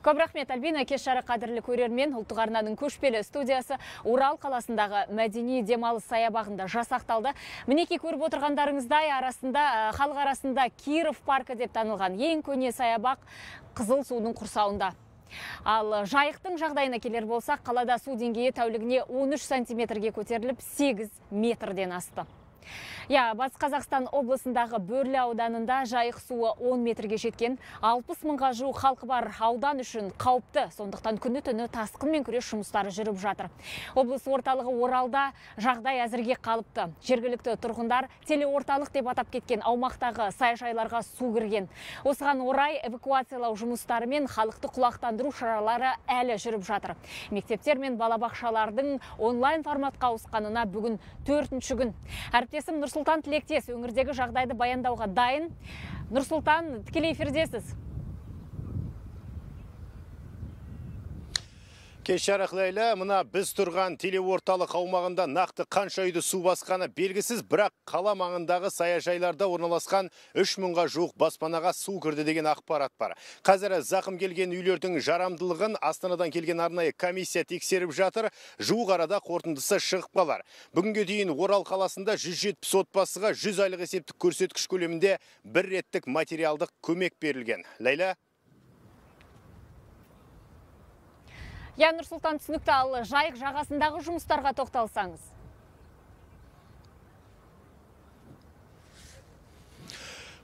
Көп рахмет, Альбина. Кеш жарық қадірлі көрермен, ұлттық арнаның көшпелі студиясы Орал қаласындағы мәдени демалыс саябағында жасақталды. Мінеки көріп отырғандарыңыздай халық арасында Киров паркі деп танылған ең көне саябақ Қызыл судың құрсауында. Ал жайықтың жағдайына келер болсақ, қалада су деңгейі тәулігіне 13 сантиметрге көтеріліп 8 метрден асты. Батыс Қазақстан облысындағы Бөрлі ауданында жайық суы 10 метрге жеткен, 60 мыңға жуық халқы бар аудан үшін қауіпті, сондықтан күні-түні тасқынмен күрес жұмыстары жүріп жатыр. Облыс орталығы Оралда жағдай әзірге қалыпты. Жергілікті тұрғындар телеорталық деп атап кеткен аумақтағы саяжайларға су кірген. Осыған орай эвакуациялау жұмыстары мен халықты құлақтандыру шаралары әлі жүріп жатыр. Мектептер мен балабақшалардың онлайн форматқа ауысқанына бүгін 4-ші күн. Әріптесім Нұрсұлтан Тілектес өңірдегі жағдайды баяндауға дайын. Нұрсұлтан, тікелей эфирдесіз. Кеш жарық, Ләйлә, мына біз тұрған телеорталық аумағында нақты қанша үйді су басқаны белгісіз, бірақ қала маңындағы саяжайларда орналасқан 3000-ға жуық баспанаға су кірді деген ақпарат бар. Қазір зақым келген үйлердің жарамдылығын Астанадан келген арнайы комиссия тексеріп жатыр. Жуық арада қорытындысы шығып қалар. Бүгінге дейін Орал қаласында 170 отбасыға 100 айлық есептік көрсеткіш көлемінде бір реттік материалдық көмек берілген. Ләйлә? Нұрсұлтан, түсінікті. Ал жайық жағасындағы жұмыстарға тоқталсаңыз.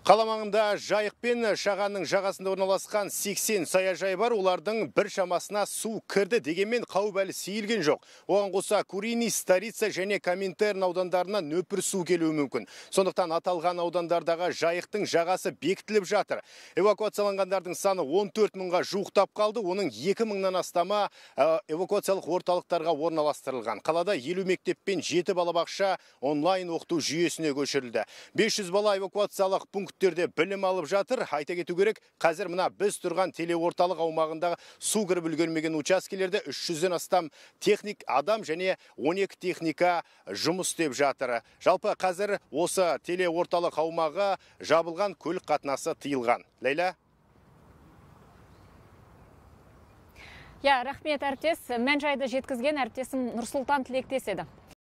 Қала маңында жайық пен шағанның жағасында орналасқан 80 саяжай бар. Олардың бір шамасына су кірді, дегенмен қауіп әлі сейілген жоқ. Оған қоса Курини, Старица және Коминтерн аудандарына нөпір су келуі мүмкін. Сондықтан аталған аудандардағы жайықтың жағасы бекітіліп жатыр. Эвакуацияланғандардың саны 14 мыңға жуықтап қалды. Оның 2 мыңнан астамы эвакуациялық орталықтарға орналастырылған. Қалада 50 мектеп пен 7 балабақша онлайн оқыту жүйесіне көшірілді. 500 бала эвакуациялық пункттерде білім алып жатыр. Айта кету керек, қазір мына біз тұрған телеорталық аумағындағы су кіріп үлгермеген учаскелерде 300-ден астам техник адам және 12 техника жұмыс істеп жатыр. Жалпы қазір осы телеорталық аумағы жабылған, көлік қатынасы тыйылған. Ләйлә? Рахмет, әріптес. Мән жайды жеткізген әріптесім Нұрсұлтан Тілектес еді.